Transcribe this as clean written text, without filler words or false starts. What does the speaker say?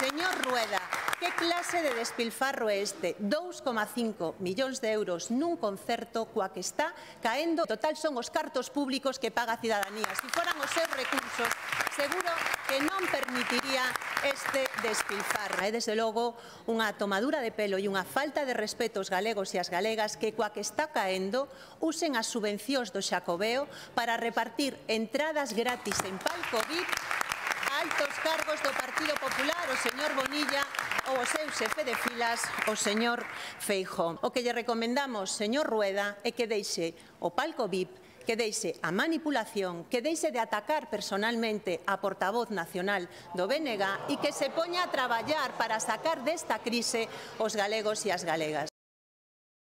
Señor Rueda, que clase de despilfarro é este? 2,5 millóns de euros nun concerto coa que está caendo. Total son os cartos públicos que paga a cidadanía. Se foran os seus recursos, seguro que non permitiría este despilfarro. É, desde logo, unha tomadura de pelo e unha falta de respeto aos galegos e as galegas que coa que está caendo usen as subvencións do Xacobeo para repartir entradas gratis en palco VIP a altos cargos do Partido Popular, o señor Bonilla ou o seu xefe de filas, o señor Feijóo. O que lle recomendamos, señor Rueda, é que deixe o palco VIP, que deixe a manipulación, que deixe de atacar personalmente a portavoz nacional do BNG e que se poña a traballar para sacar desta crise os galegos e as galegas.